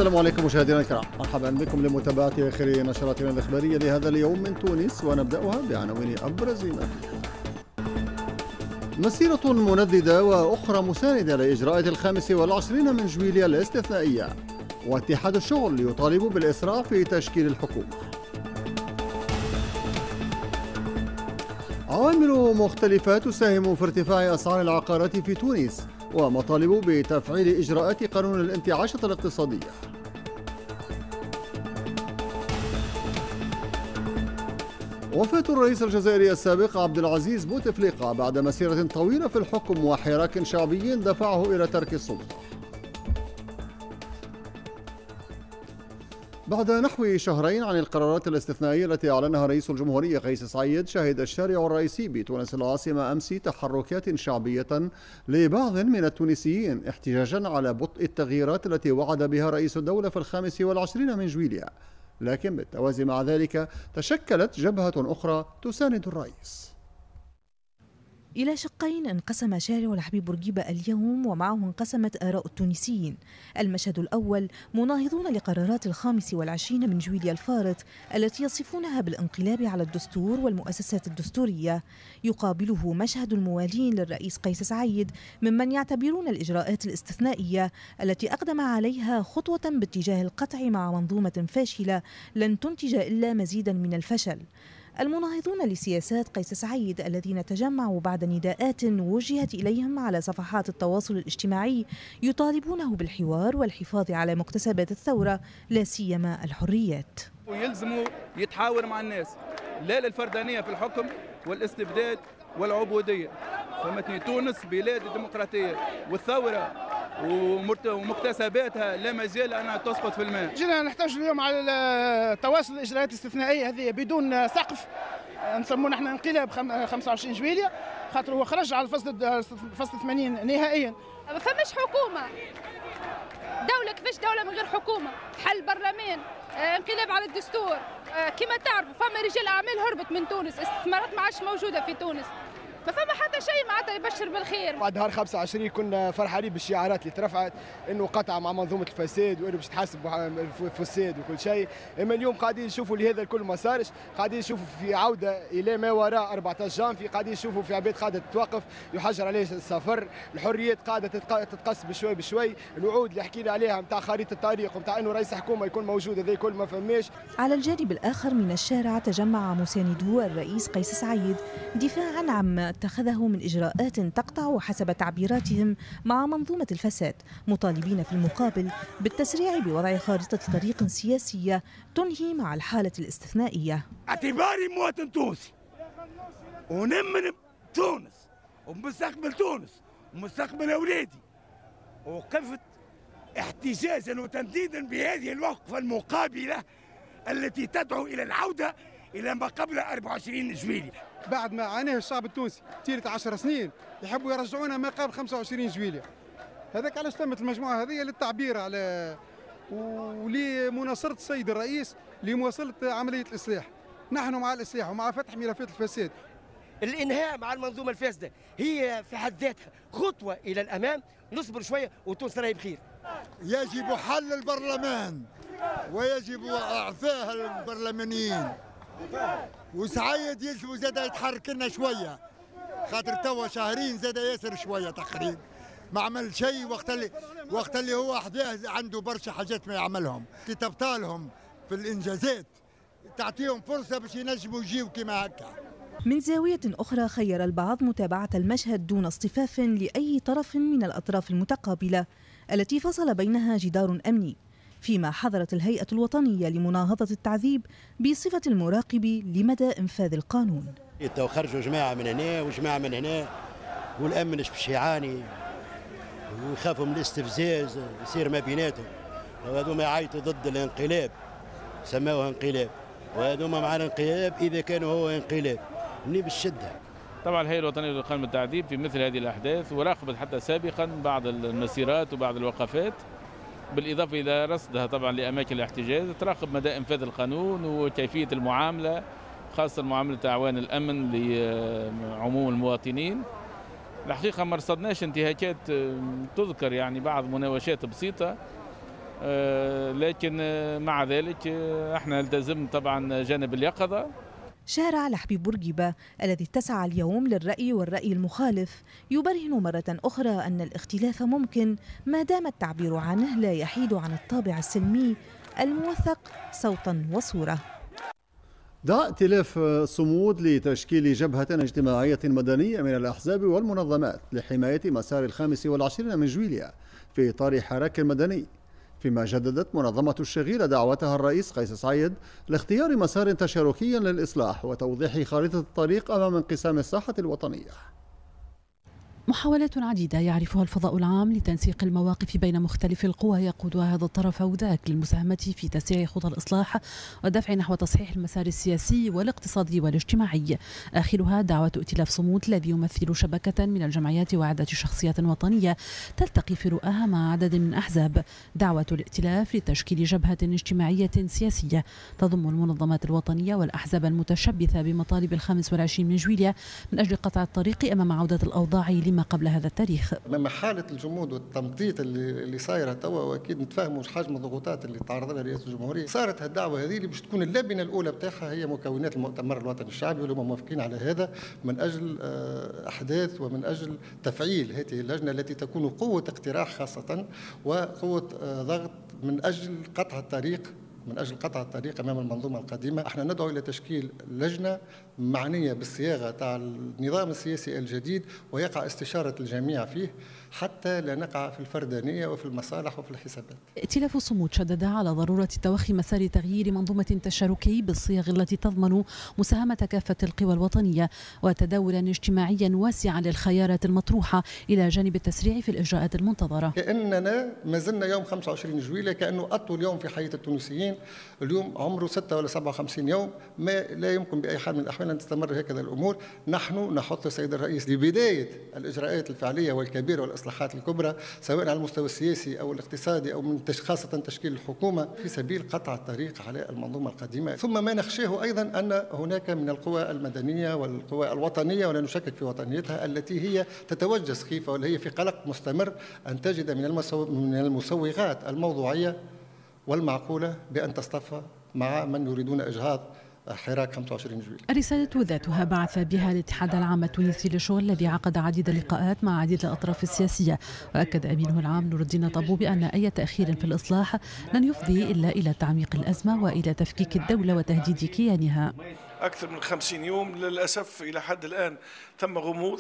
السلام عليكم مشاهدينا الكرام، مرحبا بكم لمتابعة آخر نشراتنا الإخبارية لهذا اليوم من تونس، ونبدأها بعناوين أبرز ما فيها. مسيرة منددة وأخرى مساندة لإجراءات 25 من جويلية الاستثنائية، واتحاد الشغل يطالب بالإسراع في تشكيل الحكومة. عوامل مختلفة تساهم في ارتفاع أسعار العقارات في تونس، ومطالب بتفعيل إجراءات قانون الانتعاشة الاقتصادية. وفاة الرئيس الجزائري السابق عبد العزيز بوتفليقة بعد مسيرة طويلة في الحكم وحراك شعبي دفعه إلى ترك السلطة. بعد نحو شهرين عن القرارات الاستثنائية التي أعلنها رئيس الجمهورية قيس سعيد، شهد الشارع الرئيسي بتونس العاصمة أمس تحركات شعبية لبعض من التونسيين احتجاجا على بطء التغييرات التي وعد بها رئيس الدولة في 25 من جويلية، لكن بالتوازي مع ذلك تشكلت جبهة أخرى تساند الرئيس. إلى شقين انقسم شارع الحبيب بورقيبة اليوم، ومعه انقسمت آراء التونسيين. المشهد الأول مناهضون لقرارات 25 من جويلية الفارط التي يصفونها بالانقلاب على الدستور والمؤسسات الدستورية، يقابله مشهد الموالين للرئيس قيس سعيد ممن يعتبرون الإجراءات الاستثنائية التي أقدم عليها خطوة باتجاه القطع مع منظومة فاشلة لن تنتج إلا مزيدا من الفشل. المناهضون لسياسات قيس سعيد الذين تجمعوا بعد نداءات وجهت إليهم على صفحات التواصل الاجتماعي يطالبونه بالحوار والحفاظ على مكتسبات الثورة، لا سيما الحريات. ويلزموا يتحاور مع الناس، لا للفردانية في الحكم والاستبداد والعبودية. فهمتني، تونس بلاد الديمقراطية والثورة ومكتسباتها لا مجال أنها تسقط في الماء. جينا نحتاج اليوم على تواصل الإجراءات الاستثنائية هذه بدون سقف، نسموه نحن انقلاب 25 جويلية، خاطر هو خرج على الفصل 80 نهائيا. ما فماش حكومة، دولة كيفاش دولة من غير حكومة؟ حل برلمان، انقلاب على الدستور، كما تعرفوا فما رجال أعمال هربت من تونس، استثمارات ما عادش موجودة في تونس. ما فما حتى شيء معناتها يبشر بالخير. بعد نهار 25 كنا فرحانين بالشعارات اللي ترفعت انه قطع مع منظومة الفساد وانه باش تحاسب الفساد وكل شيء، اما اليوم قاعدين نشوفوا اللي هذا الكل ما صارش، قاعدين نشوفوا في عوده الى ما وراء 14 جانفي، قاعدين نشوفوا في عباد قاعدة تتوقف، يحجر عليه السفر، الحريات قاعدة تتقص بشوي بشوي، الوعود اللي حكينا عليها نتاع خريطة الطريق ونتاع انه رئيس حكومة يكون موجود هذا الكل ما فماش. على الجانب الاخر من الشارع تجمع مساندو الرئيس قيس سعيد دفاعا عما اتخذه من إجراءات تقطع حسب تعبيراتهم مع منظومة الفساد، مطالبين في المقابل بالتسريع بوضع خارطة طريق سياسية تنهي مع الحالة الاستثنائية. اعتباري مواطن تونسي ونمن تونس ومستقبل تونس ومستقبل أولادي، وقفت احتجاجا وتنديدا بهذه الوقفة المقابلة التي تدعو إلى العودة إلى ما قبل 24 جويلية. بعد ما عاناه الشعب التونسي طيلة 10 سنين يحبوا يرجعونا ما قبل 25 جويلية. هذاك علاش تمت المجموعة هذه للتعبير على ولمناصرة السيد الرئيس لمواصلة عملية الإصلاح. نحن مع الإصلاح ومع فتح ملفات الفساد. الإنهاء مع المنظومة الفاسدة هي في حد ذاتها خطوة إلى الأمام، نصبر شوية وتونس راهي بخير. يجب حل البرلمان ويجب إعفاء البرلمانيين، وسعيد يلزم زاد يتحرك لنا شوية، خاطر توا شهرين زاد ياسر شوية تقريبا ما عمل شيء، وقت اللي هو حداه عنده برشا حاجات ما يعملهم، كي تبطالهم في الانجازات تعطيهم فرصة باش ينجموا يجيو كيما هكا. من زاوية أخرى خير البعض متابعة المشهد دون اصطفاف لأي طرف من الأطراف المتقابلة التي فصل بينها جدار أمني، فيما حظرت الهيئة الوطنية لمناهضة التعذيب بصفة المراقب لمدى إنفاذ القانون. خرجوا جماعة من هنا وجماعة من هنا، والأمن باش يعاني ويخافوا من الاستفزاز يصير ما بيناتهم، وهذوما يعيطوا ضد الانقلاب سماوه انقلاب، وهذوما مع الانقلاب إذا كانوا هو انقلاب مني بالشدة. طبعا الهيئة الوطنية للقانون التعذيب في مثل هذه الأحداث وراقبت حتى سابقا بعض المسيرات وبعض الوقفات، بالإضافة إلى رصدها طبعا لأماكن الاحتجاز، تراقب مدى إنفاذ القانون وكيفية المعاملة، خاصة معاملة أعوان الأمن لعموم المواطنين. الحقيقة ما رصدناش انتهاكات تذكر، يعني بعض مناوشات بسيطة، لكن مع ذلك احنا نلتزم طبعا جانب اليقظة. شارع الحبيب بورقيبة الذي اتسع اليوم للرأي والرأي المخالف يبرهن مرة أخرى أن الاختلاف ممكن ما دام التعبير عنه لا يحيد عن الطابع السلمي الموثق صوتا وصورة. دعا ائتلاف صمود لتشكيل جبهة اجتماعية مدنية من الأحزاب والمنظمات لحماية مسار 25 من جويلية في إطار حراك مدني، فيما جددت منظمة الشغيلة دعوتها الرئيس قيس سعيد لاختيار مسار تشاركي للإصلاح وتوضيح خريطة الطريق أمام انقسام الساحة الوطنية. محاولات عديدة يعرفها الفضاء العام لتنسيق المواقف بين مختلف القوى يقودها هذا الطرف أو ذاك للمساهمة في تسريع خطى الإصلاح والدفع نحو تصحيح المسار السياسي والاقتصادي والاجتماعي. آخرها دعوة ائتلاف صمود الذي يمثل شبكة من الجمعيات وعدة شخصيات وطنية تلتقي في رؤاها مع عدد من أحزاب. دعوة الائتلاف لتشكيل جبهة اجتماعية سياسية تضم المنظمات الوطنية والأحزاب المتشبثة بمطالب 25 من جويلية من أجل قطع الطريق أمام عودة الأوضاع لما قبل هذا التاريخ. أمام حالة الجمود والتمطيط اللي صايرة توا، واكيد نتفاهموا حجم الضغوطات اللي تعرض لها رئاسة الجمهورية، صارت هالدعوة هذه اللي باش تكون اللبنة الأولى بتاعها هي مكونات المؤتمر الوطني الشعبي، واللي هم موافقين على هذا من أجل أحداث ومن أجل تفعيل هذه اللجنة التي تكون قوة اقتراح خاصة وقوة ضغط من أجل قطع الطريق، من أجل قطع الطريق أمام المنظومة القديمة. احنا ندعو إلى تشكيل لجنة معنية بالصياغة تاع النظام السياسي الجديد ويقع استشارة الجميع فيه حتى لا نقع في الفردانية وفي المصالح وفي الحسابات. ائتلاف الصمود شدد على ضرورة توخي مسار تغيير منظومة تشاركي بالصيغ التي تضمن مساهمة كافة القوى الوطنية وتداولا اجتماعيا واسعا للخيارات المطروحة إلى جانب التسريع في الإجراءات المنتظرة. كأننا ما زلنا يوم 25 جويلية كأنه أطول يوم في حياة التونسيين، اليوم عمره 6 ولا 57 يوم، ما لا يمكن بأي حال من الأحوال أن تستمر هكذا الأمور. نحن نحث السيد الرئيس لبداية الإجراءات الفعلية والكبيرة والإصلاحات الكبرى سواء على المستوى السياسي أو الاقتصادي أو من خاصة تشكيل الحكومة في سبيل قطع الطريق على المنظومة القديمة. ثم ما نخشاه أيضا أن هناك من القوى المدنية والقوى الوطنية ولا نشكك في وطنيتها التي هي تتوجس خيفة ولا هي في قلق مستمر أن تجد من المسوغات الموضوعية والمعقولة بأن تصطف مع من يريدون إجهاض حراك 25 جويلية. الرسالة ذاتها بعث بها الاتحاد العام التونسي للشغل الذي عقد عديد اللقاءات مع عديد الأطراف السياسية، وأكد أمينه العام نور الدين طبوبي أن أي تأخير في الإصلاح لن يفضي إلا إلى تعميق الأزمة وإلى تفكيك الدولة وتهديد كيانها. أكثر من 50 يوم للأسف إلى حد الآن تم غموض.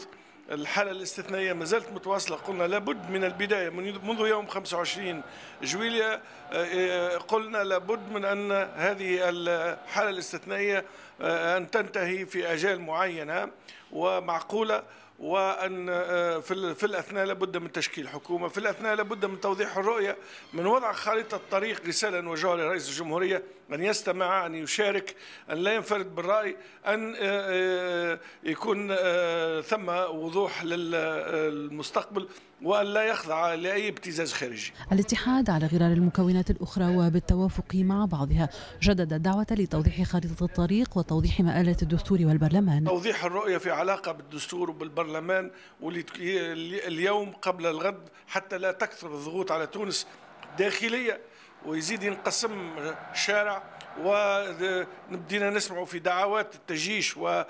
الحالة الاستثنائية ما زالت متواصلة. قلنا لابد من البداية منذ يوم 25 جويلية قلنا لابد من أن هذه الحالة الاستثنائية أن تنتهي في أجال معينة ومعقولة، وأن في الأثناء لابد من تشكيل حكومة، في الأثناء لابد من توضيح الرؤية، من وضع خريطة الطريق. رسالة نوجهها لرئيس الجمهورية أن يستمع، أن يشارك، أن لا ينفرد بالرأي، أن يكون ثم وضوح للمستقبل وأن لا يخضع لأي ابتزاز خارجي. الاتحاد على غرار المكونات الأخرى وبالتوافق مع بعضها جدد الدعوة لتوضيح خريطة الطريق وتوضيح مآلات الدستور والبرلمان. توضيح الرؤية في علاقة بالدستور وبالبرلمان واليوم قبل الغد حتى لا تكثر الضغوط على تونس داخلية ويزيد ينقسم الشارع، ونبدينا نسمع في دعوات التجيش والدعوة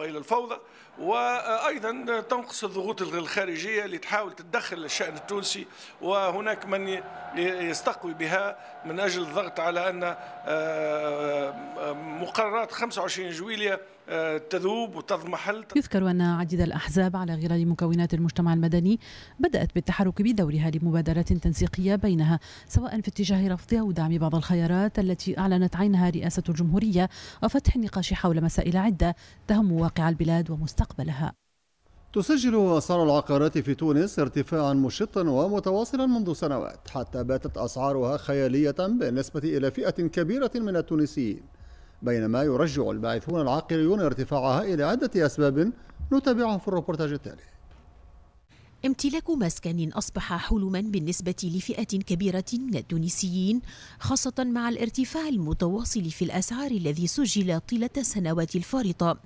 إلى الفوضى، وأيضا تنقص الضغوط الخارجية اللي تحاول تتدخل الشأن التونسي، وهناك من يستقوي بها من أجل الضغط على أن مقررات 25 جويلية تذوب وتضمحل. يذكر أن عديد الأحزاب على غرار مكونات المجتمع المدني بدأت بالتحرك بدورها لمبادرات تنسيقية بينها، سواء في اتجاه رفض أو دعم بعض الخيارات التي أعلنت عنها رئاسة الجمهورية، وفتح النقاش حول مسائل عدة تهم واقع البلاد ومستقبلها. تسجل أسعار العقارات في تونس ارتفاعا مشطا ومتواصلا منذ سنوات، حتى باتت أسعارها خيالية بالنسبة إلى فئة كبيرة من التونسيين، بينما يرجع الباحثون العقاريون ارتفاعها إلى عدة أسباب نتابعها في الروبورتاج التالي. امتلاك مسكن أصبح حلما بالنسبة لفئة كبيرة من التونسيين، خاصة مع الارتفاع المتواصل في الأسعار الذي سجل طيلة السنوات الفارطة.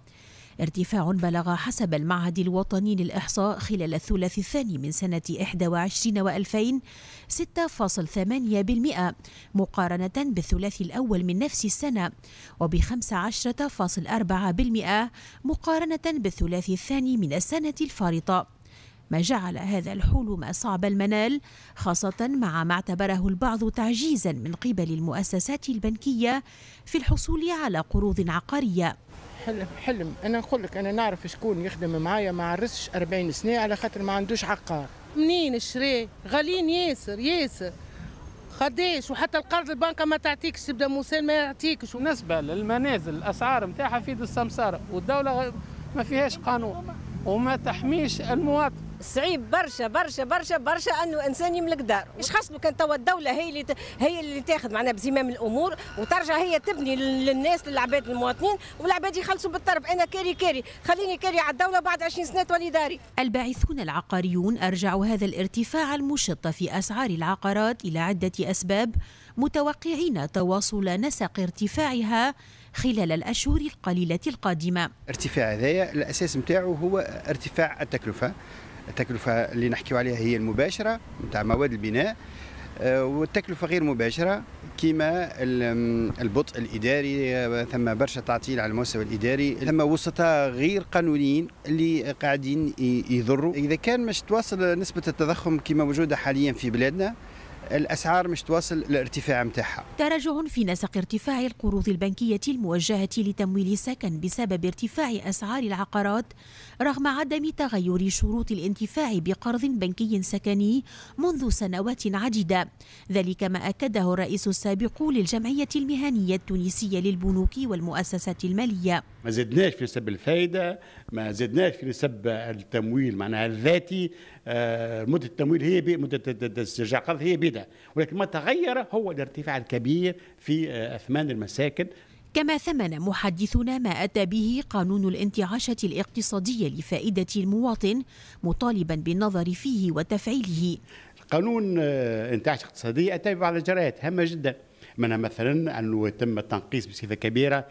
ارتفاع بلغ حسب المعهد الوطني للإحصاء خلال الثلاثي الثاني من سنة 21 و2000 6.8% مقارنة بالثلاثي الأول من نفس السنة، وب15.4% مقارنة بالثلاثي الثاني من السنة الفارطة، ما جعل هذا الحلم صعب المنال، خاصة مع ما اعتبره البعض تعجيزا من قبل المؤسسات البنكية في الحصول على قروض عقارية. حلم حلم، أنا نقول لك أنا نعرف شكون يخدم معايا ما عرسش 40 سنة على خاطر ما عندوش عقار. منين شري؟ غاليين ياسر ياسر قداش، وحتى القرض البنكة ما تعطيكش، تبدا موسال ما يعطيكش. بالنسبة للمنازل الأسعار نتاعها في يد السمسارة، والدولة ما فيهاش قانون وما تحميش المواطن. صعيب برشا برشا برشا برشا انه انسان يملك دار، مش خاصة كان توا الدولة هي اللي تاخذ معنا بزمام الامور وترجع هي تبني للناس للعباد المواطنين، والعباد يخلصوا بالطرف. انا كاري كاري، خليني كاري على الدولة بعد 20 سنة تولي داري. الباعثون العقاريون ارجعوا هذا الارتفاع المشط في اسعار العقارات الى عده اسباب، متوقعين تواصل نسق ارتفاعها خلال الأشهر القليلة القادمة. ارتفاع هذايا الأساس نتاعو هو ارتفاع التكلفة، التكلفة اللي نحكيو عليها هي المباشرة نتاع مواد البناء، والتكلفة غير مباشرة كما البطء الإداري، ثم برشا تعطيل على المستوى الإداري، ثم وسطاء غير قانونيين اللي قاعدين يضروا. إذا كان مش تواصل نسبة التضخم كما موجودة حاليا في بلادنا، الأسعار مش تواصل الارتفاع متاعها. تراجع في نسق ارتفاع القروض البنكية الموجهة لتمويل السكن بسبب ارتفاع أسعار العقارات، رغم عدم تغير شروط الانتفاع بقرض بنكي سكني منذ سنوات عديدة، ذلك ما أكده الرئيس السابق للجمعية المهنية التونسية للبنوك والمؤسسات المالية. ما زدناش في نسب الفائدة، ما زدناش في نسب التمويل معناها الذاتي، مدة التمويل هي مدة استرجاع القرض هي بيدها، ولكن ما تغير هو الارتفاع الكبير في أثمان المساكن. كما ثمن محدثنا ما أتى به قانون الانتعاشة الاقتصادية لفائدة المواطن، مطالبا بالنظر فيه وتفعيله. قانون الانتعاشة الاقتصادية أتى ببعض الإجراءات هامة جدا، منها مثلا أنه تم التنقيص بصفة كبيرة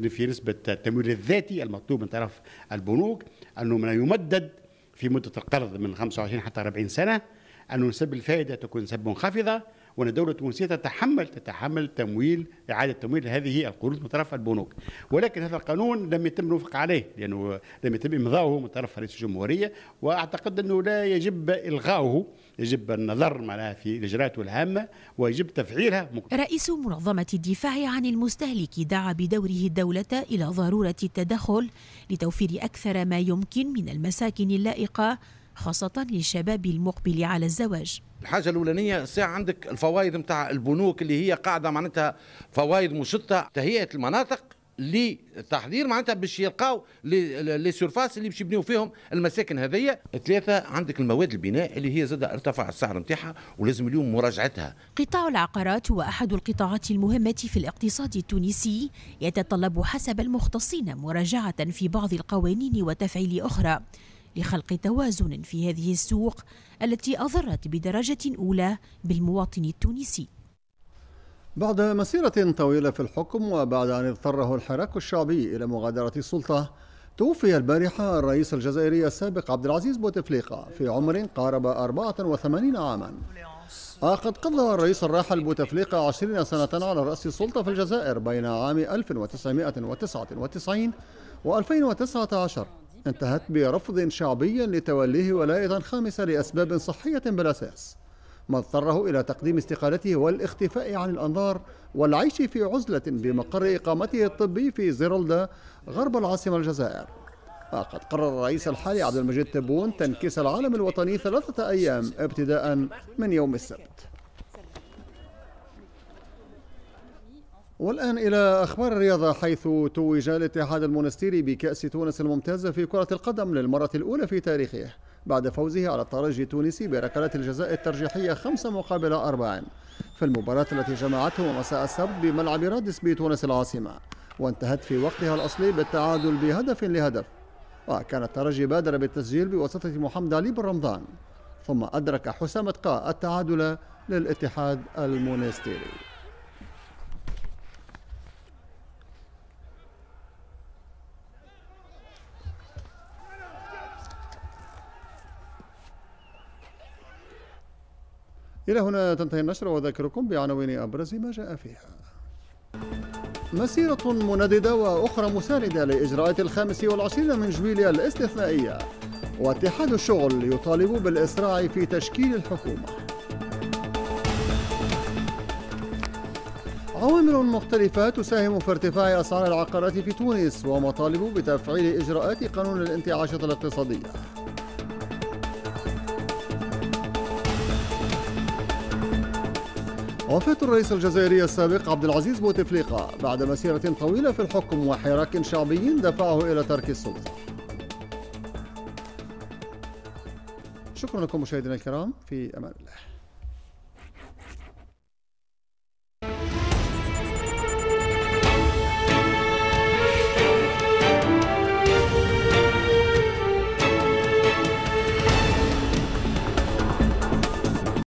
في نسبة التمويل الذاتي المطلوب من طرف البنوك، أنه من يمدد في مدة القرض من 25 حتى 40 سنة، أن نسب الفائدة تكون نسب منخفضة، وأن الدولة التونسية تتحمل تمويل إعادة تمويل هذه القروض من طرف البنوك. ولكن هذا القانون لم يتم الوفق عليه، لأنه لم يتم إمضاؤه من طرف رئيس الجمهورية، وأعتقد أنه لا يجب إلغاؤه، يجب النظر معناها في الإجراءات الهامة ويجب تفعيلها. رئيس منظمة الدفاع عن المستهلك دعا بدوره الدولة إلى ضرورة التدخل لتوفير أكثر ما يمكن من المساكن اللائقة، خاصة للشباب المقبل على الزواج. الحاجة الأولانية الساعة عندك الفوائد نتاع البنوك اللي هي قاعدة معناتها فوائد مشطة، تهيئة المناطق لتحضير معناتها باش يلقاو les surfaces اللي باش يبنيو فيهم المساكن هذيا. ثلاثة عندك المواد البناء اللي هي زاد ارتفع السعر نتاعها ولازم اليوم مراجعتها. قطاع العقارات هو أحد القطاعات المهمة في الاقتصاد التونسي، يتطلب حسب المختصين مراجعة في بعض القوانين وتفعيل أخرى لخلق توازن في هذه السوق التي أضرت بدرجة أولى بالمواطن التونسي. بعد مسيرة طويلة في الحكم وبعد أن اضطره الحراك الشعبي إلى مغادرة السلطة، توفي البارحة الرئيس الجزائري السابق عبد العزيز بوتفليقة في عمر قارب 84 عاما. قد قضى الرئيس الراحل بوتفليقة 20 سنة على رأس السلطة في الجزائر بين عام 1999 و2019، انتهت برفض شعبي لتوليه ولاية خامسة لأسباب صحية بالأساس، ما اضطره إلى تقديم استقالته والاختفاء عن الأنظار والعيش في عزلة بمقر إقامته الطبي في زيرولدا غرب العاصمة الجزائر. وقد قرر الرئيس الحالي عبد المجيد تبون تنكيس العالم الوطني 3 أيام ابتداء من يوم السبت. والآن إلى أخبار الرياضة، حيث توج الاتحاد المونستيري بكأس تونس الممتازة في كرة القدم للمرة الأولى في تاريخه بعد فوزه على الترجي التونسي بركلات الجزاء الترجيحية 5-4 في المباراة التي جمعته مساء السبت بملعب رادس بتونس العاصمة، وانتهت في وقتها الأصلي بالتعادل بهدف لهدف. وكان الترجي بادر بالتسجيل بواسطة محمد علي بن رمضان، ثم أدرك حسام تقا التعادل للاتحاد المونستيري. إلى هنا تنتهي النشرة، وأذكركم بعناوين أبرز ما جاء فيها. مسيرة منددة وأخرى مساندة لإجراءات 25 من جويلية الاستثنائية، واتحاد الشغل يطالب بالإسراع في تشكيل الحكومة. عوامل مختلفة تساهم في ارتفاع أسعار العقارات في تونس، ومطالب بتفعيل إجراءات قانون الانتعاشة الاقتصادية. وفاة الرئيس الجزائري السابق عبد العزيز بوتفليقة بعد مسيرة طويلة في الحكم وحراك شعبي دفعه إلى ترك السلطة. شكرا لكم مشاهدينا الكرام، في أمان الله.